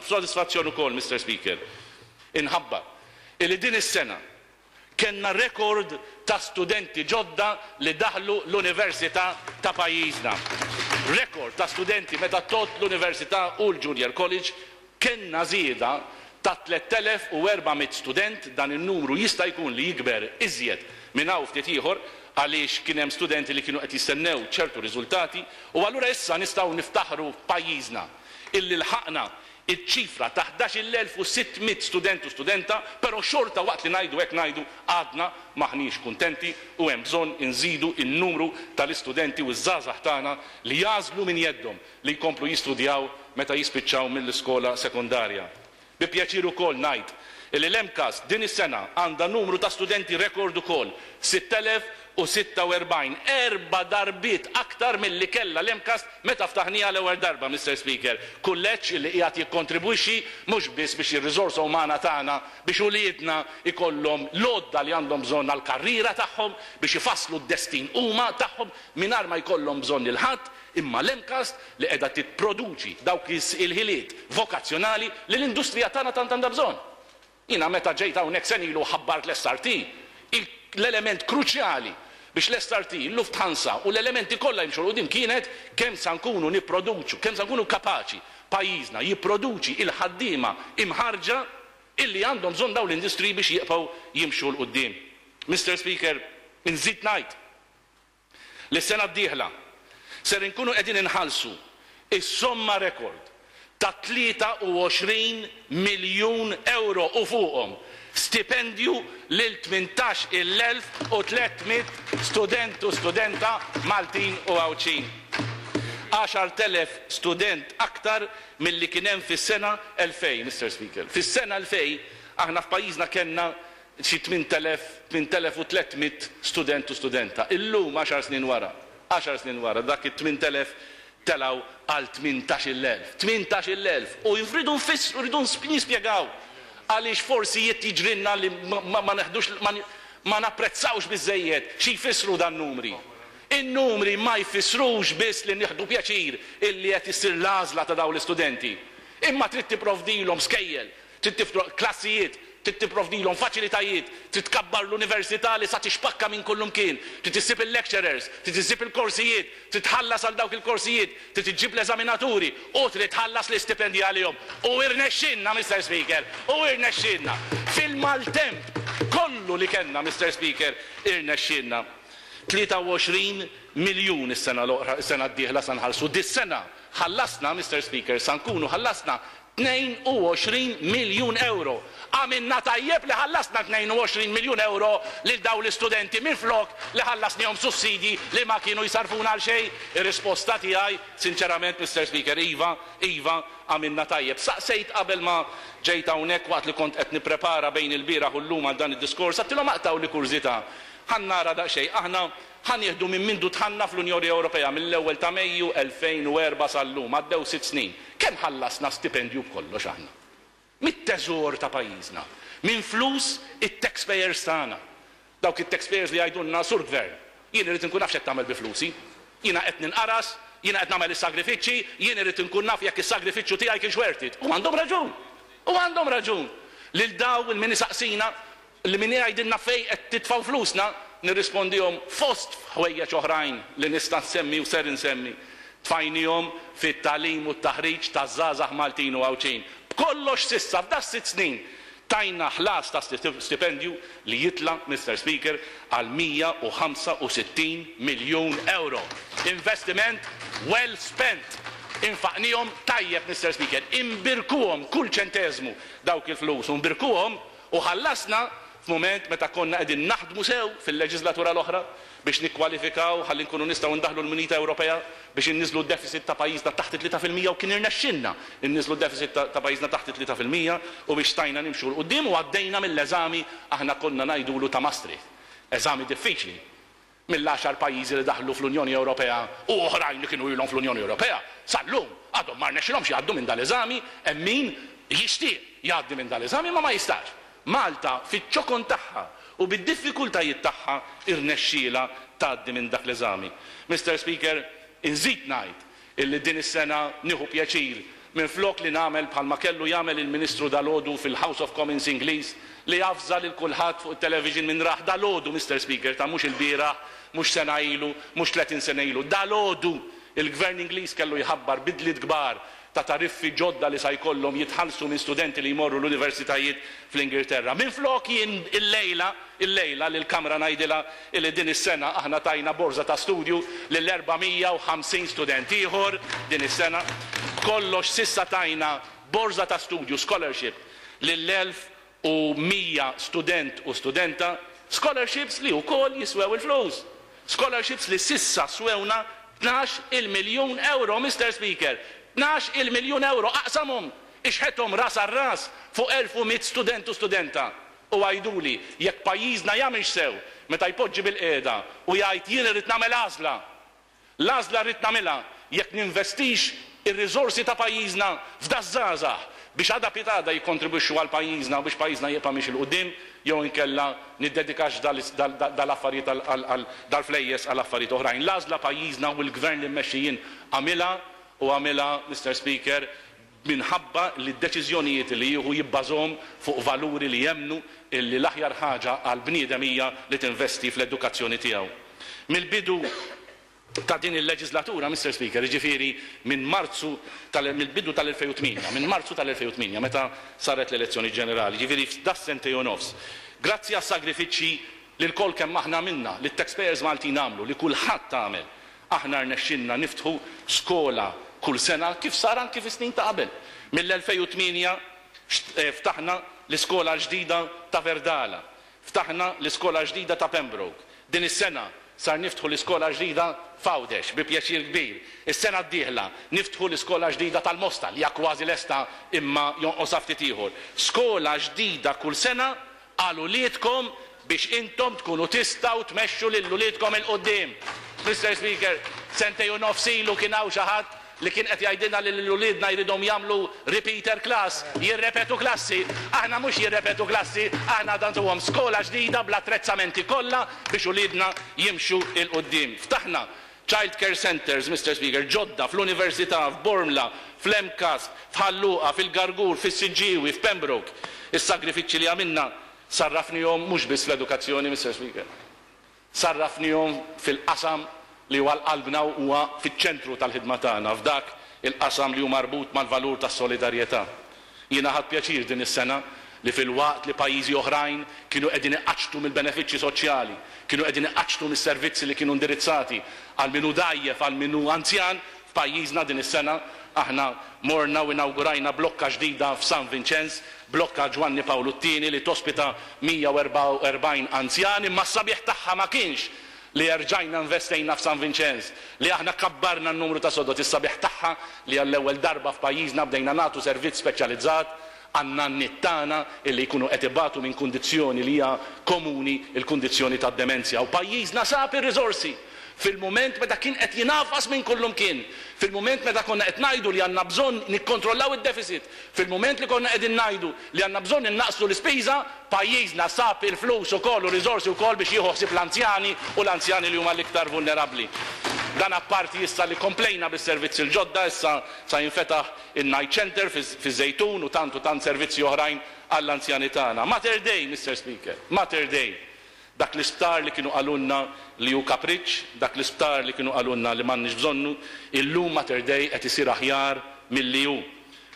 B'sodisfazzjon ukoll, Mister Speaker, inħabbar illi din is-sena kellna rekord ta' studenti ġodda li daħlu l-università ta' pajjiżna. Rekord ta' studenti meta tgħodd l-università u l-junior college, kellna żieda ta' 3,400 student, dan in-numru jista' jkun li jikber iżjed minn hawn ftit ieħor għaliex kien hemm studenti li kienu qed jistennew ċertu riżultati u allura issa nistgħu niftaħru f'pajjiżna illi lħaqna iċ-ċifra ta' 11,600 student u studenta, però xorta waqt li ngħidu hekk ngħidu għadna m'aħniex kuntenti u hemm bżonn inżidu n-numru tal-istudenti u ż-żgħażagħ tagħna li jagħżlu minn jeddhom li jkomplu jistudjaw meta jispiċċaw mill-iskola sekondarja. Bi pjaċir ukoll ngħid illi l-MCAST din is-sena għandha numru ta' studenti rekord ukoll, 6,046, erba' darbiet aktar milli kellha l-MCAST meta ftaħnieha l-ewwel darba, Mister Speaker. Kulleġġ illi qiegħed jikkontribwixxi mhux biss biex ir-riżorsa umana tagħna, biex uliedna jkollhom l-għodda li għandhom bżonn għall-karriera tagħhom, biex ifasslu d-destin huma tagħhom mingħajr ma jkollhom bżonn lil ħadd, imma l-MCAST li qiegħda tipproduċi dawk il-ħiliet vokazzjonali li l-industrija tagħna tant għandha bżonn. Jiena meta ġejt hawnhekk sena ilu u ħabbart l-SRT, l-element kruċjali biex l-SRT, il-Lufthansa u l-elementi kollha jimxu 'l quddiem kienet kemm sa nkunu nipproduċu, kemm sa nkunu kapaċi pajjiżna jipproduċi l-ħaddiema imħarrġa illi għandhom bżonn dawn l-industriji biex jibqgħu jimxu 'l quddiem. Mister Speaker, inżid ngħid li s-sena d-dieħla ser inkunu qegħdin inħallsu s-somma rekord ta' 23 miljun ewro u fuqhom stipendju lil 18,300 student u studenta Maltin u Għawdxin. 10,000 student aktar milli kien hemm fis-sena 2000, Mister Speaker. Fis-sena 2000 aħna f'pajjiżna kellna xi 8,000, 8,300 student u studenta. Illum, għaxar snin wara, għaxar snin wara, dak it-8,000 telgħu għal 18,000. 18,000! U rridu nfissru, rridu nispjegaw għaliex forsi jiet jiġrilna li ma neħdux, ma napprezzawx biżżejjed xi jfissru dan-numri. In-numri ma jfissrux biss li nieħdu pjaċir illi qed issir l-għażla ta' dawn l-istudenti, imma trid tipprovdilhom skejjel, Trid tifroq klassijiet, trid tipprovdilhom faċilitajiet, trid tkabbar l-università li sa tixpakka minn kullumkien, trid issib il-lecturers, trid issib il-korsijiet, trid tħallas għal dawk il-korsijiet, trid iġġib l-eżaminaturi u trid tħallas l-istipendji għalihom. U irnexxielna, Mister Speaker, u irnexxielna. Fil-maltemp kollu li kellna, Mister Speaker, irnexxielna. 23 miljun is-sena l-oħra, is-sena d-dieħla sa nħallsu. Dis-sena ħallasna, Mister Speaker, sa nkunu ħallasna 22 miljun ewro. Għamilna tajjeb li ħallasna 22 miljun ewro lil dawn l-istudenti minflok li ħallasnihom sussidji li ma kienu jsarrfuna għal xejn? Ir-risposta tiegħi, sinċerament, Mister Speaker, iva, iva, għamilna tajjeb. Saqsejt qabel ma ġejt hawnhekk waqt li kont qed nipprepara bejn ilbieraħ u llum għal dan id-diskors, għedtilhom aqtgħuli kurżità, ħa nara daqsxejn, aħna ħa nieħdu minn mindu dħalna fl-Unjoni Ewropea, mill-ewwel ta' Mejju 2004 sal-lum, għaddew sitt snin. Kemm ħallasna stipendju b'kollox aħna? Mit-teżor ta' pajjiżna. Minn flus it-taxpayers tagħna. Dawk it-taxpayers li jgħidulna, Sur Gvern, jien irrid inkun naf x'qed tagħmel bi flusi. Jiena qed ninqaras, jiena qed nagħmel is-sagrifiċċji, jien irrid inkun naf jekk is-sagrifiċċju tiegħi kienx worth it. U għandhom raġun! U għandhom raġun! Lil dawn il min isaqsina, Li min jgħidilna fejn qed titfgħu flusna, nirrispondihom fost ħwejjeġ oħrajn li nista' nsemmi u ser insemmi, tfajnihom fit-tagħlim u t-taħriġ taż-żgħażagħ Maltin u Għawdxin. B'kollox s'issa f'das-sitt snin tajna ħlas ta' stipendju li jitla', Mister Speaker, għal 165 miljun ewro. Investiment well spent! Infaqnihom tajjeb, Mister Speaker. Imbirkuhom kull ċenteżmu dawk il-flus u nbirkuhom U ħallasna f'mument meta konna qegħdin naħdmu sew fil-leġiżlatura l-oħra biex nikkwalifikaw ħalli nkunu nistgħu ndaħħlu l-munita Ewropea biex inniżżlu d-deficit ta' pajjiżna taħt it-3% u kien irnexxielna nniżżlu d-deficit ta' pajjiżna taħt it-3% u biex stajna nimxu 'l quddiem u għaddejna mill-eżami aħna konna ngħidulu ta' Maastricht. Eżami diffiċli. Mill-għaxar pajjiżi li daħlu fl-Unjoni Ewropea u oħrajn li kienu ilhom fl-Unjoni Ewropea, sal-lum għadhom ma rnexxilhomx jgħaddu minn dal-eżami, hemm min jixtieq jgħaddi minn dal-eżami imma ma jistax. Malta fiċ-ċokon tagħha u bid-diffikultajiet tagħha rnexxielha tgħaddi minn dak l-eżami. Mister Speaker, inżid ngħid illi din is-sena nieħu pjaċir Minflok li nagħmel bħalma kellu jagħmel il-Ministru dalgħodu fil-House of Commons Ingliż li avża lil kulħadd fuq it-television minn rah dalgħodu, Mister Speaker, ta' mhux ilbieraħ, mhux sena ilu, mhux 30 sena ilu, dalgħodu il-Gvern Ingliż kellu jħabbar bidliet kbar ta' tariffi ġodda li sa jkollhom jitħallsu minn studenti li jmorru l-universitajiet fl-Ingilterra. Minflok jien illejla, illejla lill-Kamra ngħidilha illi din is-sena aħna tajna borża ta' studju lil 450 student ieħor din is-sena. B'kollox s'issa tajna borża ta' studju, scholarship, lil 1,100 student u studenta, scholarships li wkoll jiswew il-flus. Scholarships li s'issa swewna 12-il miljun ewro, Mister Speaker! 12-il miljun ewro! Aqsamhom, ixħethom ras għal ras fuq 1,100 student u studenta u għiduli jekk pajjiżna jagħmilx sew meta jpoġġi bilqiegħda u jgħid jien irrid nagħmel għażla! L-għażla rrid nagħmilha jekk ninvestix ir-riżorsi ta' pajjiżna f'daż-żgħażagħ biex għada pitgħada jikkontribwixxu għal pajjiżna u biex pajjiżna jibqa' miexi 'l quddiem jew inkella niddedikax dal-affarijiet għal dal-flejjes għal affarijiet oħrajn. L-għażla pajjiżna u l-Gvern li mmexxi jien għamilha u għamilha, Mister Speaker, minħabba li d-deċiżjonijiet li jieħu jibbażhom fuq valuri li jemmnu illi l-aħjar ħaġa għall-bniedem hija li tinvesti fl-edukazzjoni tiegħu. Mill-bidu ta' din il-leġiżlatura, Mister Speaker, jiġifieri minn Marzu tal mill-bidu tal-2008, minn Marzu tal-2008 meta saret l-elezzjoni ġenerali, jiġifieri f'das-sentejn u nofs, grazzi għas-sagrifiċċji li lkoll kemm aħna għamilna, li t-taxpayers Maltin għamlu, li kulħadd għamel, Aħna rnexxielna niftħu skola kull sena kif sar anki fis-snin ta' qabel. Mill-2008 ftaħna l-iskola l-ġdida ta' Verdala, ftaħna l-iskola l-ġdida ta' Pembroke. Din is-sena sar niftħu l-iskola l-ġdida f'Għawdex bi pjaċir kbir. Is-sena d-dieħla niftħu l-iskola l-ġdida tal-Mosta li hija kważi lesta imma jonqosha ftit ieħor. Skola ġdida kull sena għal uliedkom biex intom tkunu tistgħu tmexxu lil uliedkom 'il quddiem. Mister Speaker, sentejn u nofs ilu kien hawn xi ħadd li kien qed jgħidilna li lil uliedna jridhom jagħmlu repeater class, jirrepetu klassi. Aħna mhux jirrepetu klassi, aħna għad nagħtuhom skola ġdida bl-attrezzamenti kollha biex uliedna jimxu 'il quddiem. Ftaħna Child care centres, Mister Speaker, ġodda fl-Università, f'Bormla, fl-MCAST, f'Ħal Luqa, fil-Gargur, fis-Siġġiewi, f'Pembroke. Is-sagrifiċċji li għamilna sarrafnihom mhux biss fl-edukazzjoni, Mister Speaker. Sarrafnihom fil-qasam li huwa għal qalbna u huwa fiċ-ċentru tal-ħidma tagħna, f'dak il-qasam li hu marbut mal-valur tas-solidarjetà. Jiena ħadt pjaċir din is-sena li filwaqt li pajjiżi oħrajn kienu qegħdin iqaċċtu mill-benefiċċji soċjali, kienu qegħdin iqaċċtu mis-servizzi li kienu indirizzati għal min hu dgħajjef, għal min hu anzjan, f'pajjiżna din is-sena aħna morna u inawgurajna blokka ġdida f'San Vinċenz, blokka Ġwanni Pawlu t-Tieni li tospita 144 anzjan imma s-sabiħ tagħha ma kienx li erġajna investejna f'San Vinċenz, li aħna kabbarna n-numru ta' sodod, is-sabiħ tagħha li għall-ewwel darba f'pajjiżna bdejna nagħtu servizz speċjalizzat għan-nanniet tagħna illi jkunu qed ibatu minn kundizzjoni li hija komuni, il-kundizzjoni tad-demenzja. U pajjiżna sab ir-riżorsi fil-mument meta kien qed jingħafas minn kullumkien, fil-mument meta konna qed ngħidu li għandna bżonn nikkontrollaw id-deficit, fil-mument li konna qegħdin ngħidu li għandna bżonn innaqqsu l-ispiża, Pajjiżna sab il-flus ukoll u riżorsi wkoll biex jieħu ħsieb l-anzjani u l-anzjani li huma l-iktar vulnerabbli. Dan apparti issa li komplejna bis-servizzi l-ġodda, issa sa jinfetaħ in-night centre fiż-Żejtun u tant u tant servizzi oħrajn għall-anzjani tagħna. Mater Dei, Mister Speaker, Mater Dei. Dak l-isptar li kienu qalulna li hu kapriċċ, dak l-isptar li kienu qalulna li m'għandniex bżonnu, illum Mater Dei qed isir aħjar milli hu.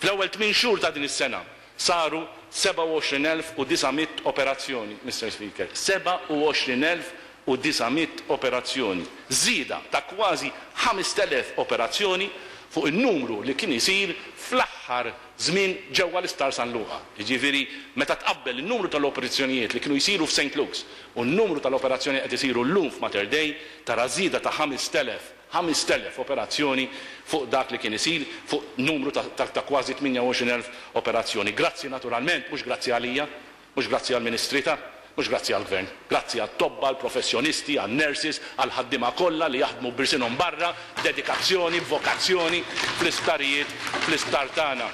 Fl-ewwel tmien xhur ta' din is-sena, Saru 27,900 operazzjoni, Mister Speaker, 27,900 operazzjoni, żieda ta' kważi 5,000 operazzjoni fuq in-numru li kien isir fl-aħħar żmien ġewwa l-Isptar San Luqa. Jiġifieri meta tqabbel in-numru tal-operazzjonijiet li kienu jsiru f'Saint Luke's u n-numru tal-operazzjonijiet qed isiru llum f'Mater Dei, tara żieda ta' 5,000 5,000 operazzjoni fuq dak li kien isir, fuq numru ta' ta' kważi 28,000 operazzjoni. Grazzi naturalment, mhux grazzi għalija, mhux grazzi għall-Ministri ta', mhux grazzi għall-Gvern. Grazzi għat-tobba, għall-professjonisti, għan-nurses, għall-ħaddiema kollha li jaħdmu b'irsinhom barra, b'dedikazzjoni, b'vokazzjoni fl-isptarijiet, fl-isptar tagħna.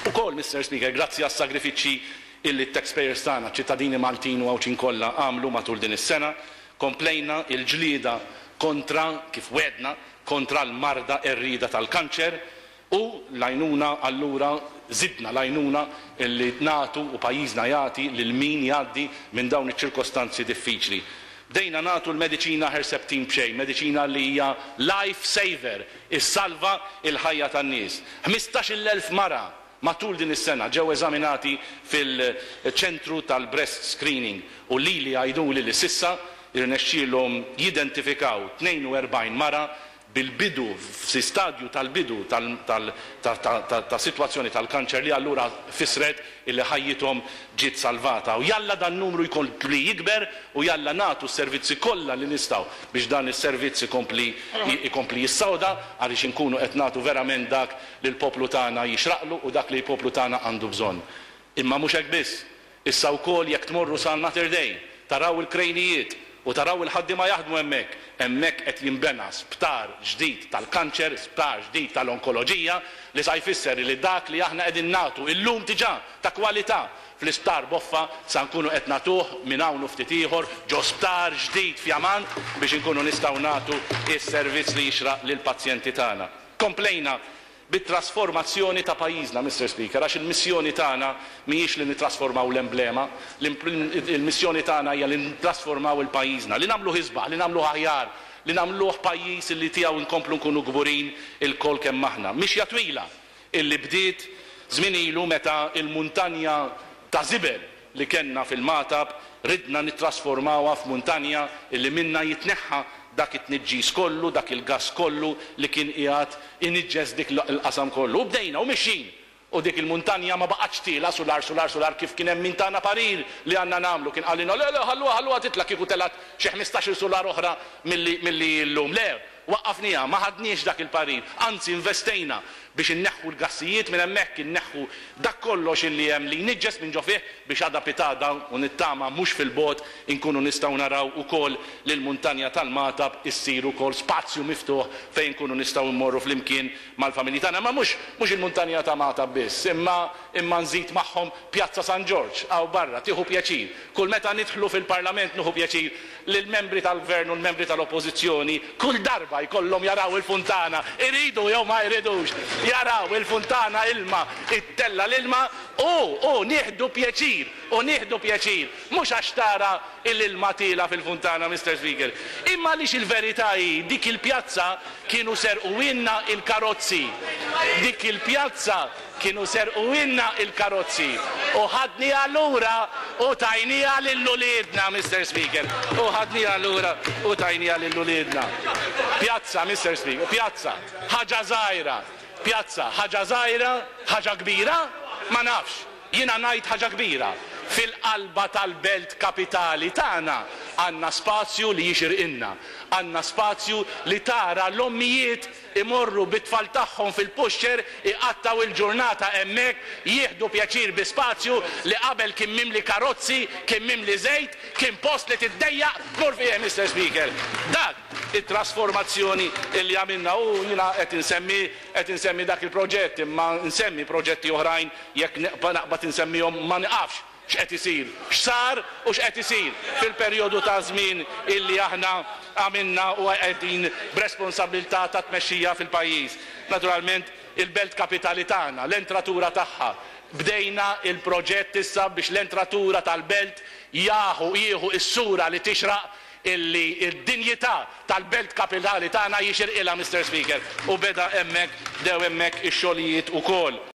Ukoll, Mister Speaker, grazzi għas-sagrifiċċji illi t-taxpayers tagħna, ċ-ċittadini Maltin u Għawdxin kollha għamlu matul din is-sena, Komplejna l-ġlieda kontra, kif wegħdna, kontra l-marda qerrieda tal-kanċer. U l-għajnuna allura żidna l-għajnuna li nagħtu u pajjiżna jagħti lil min jgħaddi minn dawn iċ-ċirkostanzi diffiċli. Bdejna nagħtu l-mediċina Herceptin b'xejn, mediċina li hija life saver, issalva l-ħajja tan-nies. 15,000 mara matul din is-sena ġew eżaminati fil-ċentru tal-breast screening u lili jgħiduli li s'issa rnexxielhom jidentifikaw 42 mara bil-bidu, f'si stadju tal-bidu ta' sitwazzjoni tal-kanċer li allura fissret illi ħajjithom ġiet salvata. U jalla dan numru jkompli jikber u jalla nagħtu s-servizzi kollha li nistgħu biex dan is-servizz ikompli ikompli jissoda għaliex inkunu qed nagħtu verament dak li l-poplu tagħna jixraqlu u dak li l-poplu tagħna għandu bżonn. Imma mhux hekk biss. Issa wkoll jekk tmorru sa Mater Dei, taraw il-krejnijiet u taraw il-ħaddiema jaħdmu hemmhekk. Hemmhekk qed jinbena sptar ġdid tal-kanċer, sptar ġdid tal-onkoloġija li sa jfisser li dak li aħna qegħdin nagħtu illum diġà ta' kwalità fl-isptar Boffa sa nkunu qed nagħtuh minn hawn u ftit ieħor ġo sptar ġdid fjamant biex inkunu nistgħu nagħtu s-servizz li jixraq lill-pazjenti tagħna. Komplejna bit-trasformazzjoni ta' pajjiżna, Mister Speaker, għax il-missjoni tagħna mhijiex li nittrasformaw l-emblema, il-missjoni tagħna hija li nittrasformaw il-pajjiżna, li nagħmluh isbaħ, li nagħmluh aħjar, li nagħmluh pajjiż li tiegħu nkomplu nkunu kburin ilkoll kemm aħna. Mixja twila illi bdiet żmien ilu meta l-muntanja ta' żibel li kellna fil-Magħtab ridna nittrasformawha f'muntanja illi minnha jitneħħa dak it-tniġġis kollu, dak il-gass kollu li kien qiegħed iniġġes dik il-qasam kollu. U bdejna u mixjin! U dik il-muntanja ma baqgħetx tielgħa sular sular sular kif kien hemm min tana parir li għandna nagħmlu. Kien qalilna, le le ħalluha ħalluha titla' kieku telgħet xi ħmistax-il sular oħra milli milli hi llum. Le! Waqqafnieha, ma ħadniex dak il-parir, anzi investejna biex inneħħu l-gassijiet minn hemmhekk, inneħħu dak kollox illi hemm li jniġġes minn ġo fih biex għada pitgħada, u nittama mhux fil-bogħod, inkunu nistgħu naraw ukoll li l-muntanja tal-Magħtab issir ukoll spazju miftuħ fejn inkunu nistgħu mmorru flimkien mal-familji tagħna. Imma mhux mhux il-muntanja ta' Magħtab biss, imma imma nżid magħhom Pjazza San Ġorġ hawn barra, tieħu pjaċir. Kull meta nidħlu fil-Parlament nieħu pjaċir li l-membri tal-Gvern u l-membri tal-Oppożizzjoni kull darba jkollhom jaraw il-funtana, iridu jew ma jridux, jaraw il-funtana ilma, ittella' l-ilma u, u nieħdu pjaċir, u nieħdu pjaċir, mhux għax tara l-ilma tiela' fil-funtana, Mister Speaker, imma għaliex il-verità hi dik il-pjazza kienu serquhielna l-karozzi, dik il-pjazza Kienu serquhielna il-karozzi u ħadniha lura u tajniha lil uliedna, Mister Speaker. U ħadniha lura u tajniha lil uliedna. Pjazza, Mister Speaker, pjazza, ħaġa żgħira. Pjazza, ħaġa żgħira, ħaġa kbira? Ma nafx. Jiena ngħid ħaġa kbira. Fil-qalba tal-belt kapitali tagħna għandna spazju li jixirqilna. Għandna spazju li tara l-ommijiet imorru bit-tfal tagħhom fil-pushchair iqattgħu il-ġurnata hemmhekk, jieħdu pjaċir bi spazju li qabel kien mimli karozzi, kien mimli żejt, kien post li tiddejjaq tmur fih, Mister Speaker. Dak it-trasformazzjoni li għamilna u jiena qed insemmi qed insemmi dak il-proġett imma nsemmi proġetti oħrajn jekk naqbad insemmihom ma niqafx. x'qed isir, x'sar u x'qed isir fil-perjodu ta' żmien illi aħna għamilna u qegħdin b'responsabbiltà ta' tmexxija fil-pajjiż. Naturalment, il-belt kapitali tagħna, l-entratura tagħha, bdejna l-proġett issa biex l-entratura tal-belt jaħu jieħu s-sura li tixraq illi d-dinjità tal-belt kapitali tagħna jixirqilha, Mister Speaker, u beda hemmhekk, bdew hemmhekk ix-xogħlijiet ukoll.